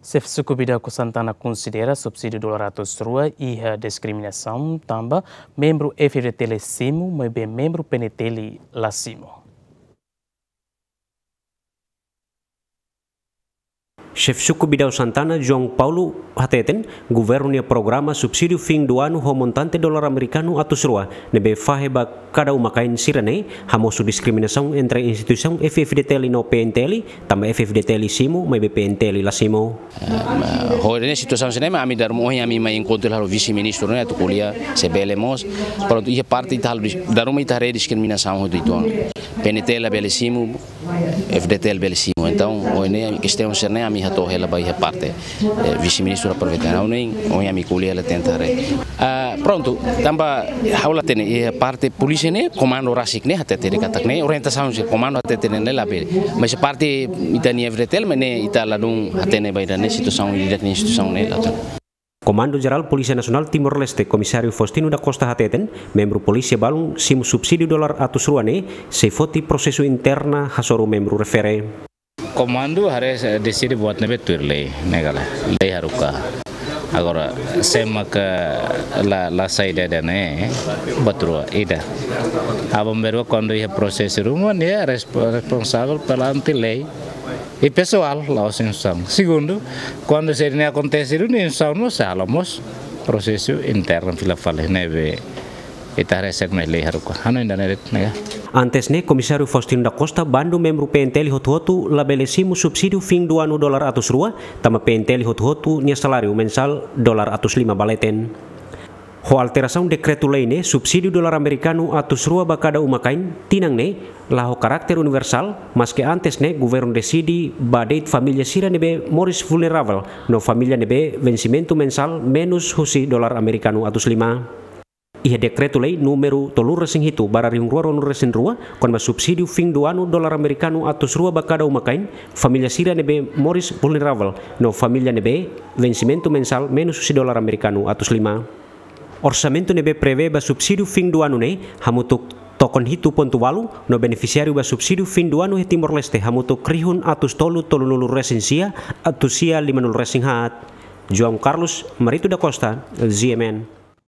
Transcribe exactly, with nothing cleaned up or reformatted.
Xefe Suku Bidau Santana konsidera subsídiu dolar atus rua iha diskriminasaun tanba membru F-FDTL simu, maibé membru P N T L la simu. Xefe Suku Bidau Santana, João Paulo, hateten, governu nia programa subsídiu fim do ano ho montante dolar amerikanu atus rua, ne'ebé fahe ba kada uma-kain sira-ne'e, hamosu diskriminasaun entre instituisaun F-FDTL no P N T L, tanba F-FDTL simu, maibé P N T L la simu. Eh, ho ne'e situasaun sira-ne'e mak ami dala ruma ohin ami mai enkontru halo vise-ministru ne'e atu ko'alia se bele mós. Prontu, iha parte ita halo dis-, dala ruma ita haree diskriminasaun hotu uitoan. P N T L labele simu, F-FDTL bele simu. Entaun, ohin ne'e kestaun sira-ne'e ami hato'o hela ba iha parte, eh, vise-ministru aproveita. Ha'u ne'e, ohin ami ko'alia hela tenta haree. Ah, prontu, tanba ha'u la hatene, iha parte polísia ne'e, komandu rasik ne'e, hatete de'it katak ne'e, orientasaun sira komandu hatete ne'e labele. Mas parte ita-nia F-FDTL, mas ne'e ita ladún hatene ba ida-ne'e situasaun, ida-ne'e situasaun ne'e la hatene. Komandu Jerál Polísia Nasionál Timor-Leste, Komisáriu Faustino da Costa hateten, membru polísia balun simu subsídiu dolar atus rua ne'e, sei foti prosesu interna hasoru membru refere. Komandu haree deside buat ne'ebé tuir lei, ne'e ka lae, lei haruka. Agora, sé maka la, la sai ida-ne'e, buat rua, ida. Aban-bainrua kuandu iha prosesu ruma, nia resp-, responsavel perante lei. I pesoál, la'ós instituisaun. Segundu, kuandu sira-ne'e akontese duni, instituisaun mós sei halo mós prosesu internu fila fali ne'ebé ita haree sé mak lei haruka. Hanoin ida-ne'e de'it, ne'e ka. Antes ne'e, Komisáriu Faustino da Costa bandu membru P N T L hotu-hotu labele simu subsídiu fim do ano dolar atus rua, tanba P N T L hotu-hotu nia saláriu mensál dolar atus lima ba leten. Ho alterasaun dekretu-lei ne'e, subsídiu dolar amerikanu atus rua ba kada uma-kain tinan ne'e la ho karakter universál, maske antes ne'e governu deside ba de'it família sira ne'ebé moris vulneravel no família ne'ebé vensimentu mensál menus husi dolar amerikanu atus lima. Iha dekretu-lei númeru tolu resin hitu barra rihun rua ruanulu resin rua, kona-ba subsídiu fim do ano dolar amerikanu atus rua ba kada uma-kain, família sira ne'ebé moris vulneravel no família ne'ebé vensimentu mensál menus husi dolar amerikanu atus lima. Orsamentu ne'ebé prevee ba subsídiu fim do ano ne'e hamutuk tokon hitu pontu ualu, no benefisiáriu ba subsídiu fim do ano iha Timor-Leste hamutuk rihun atus tolu tolunulu resin sia, atus sia limanulu resin haat. João Carlos Marito da Costa, G M N.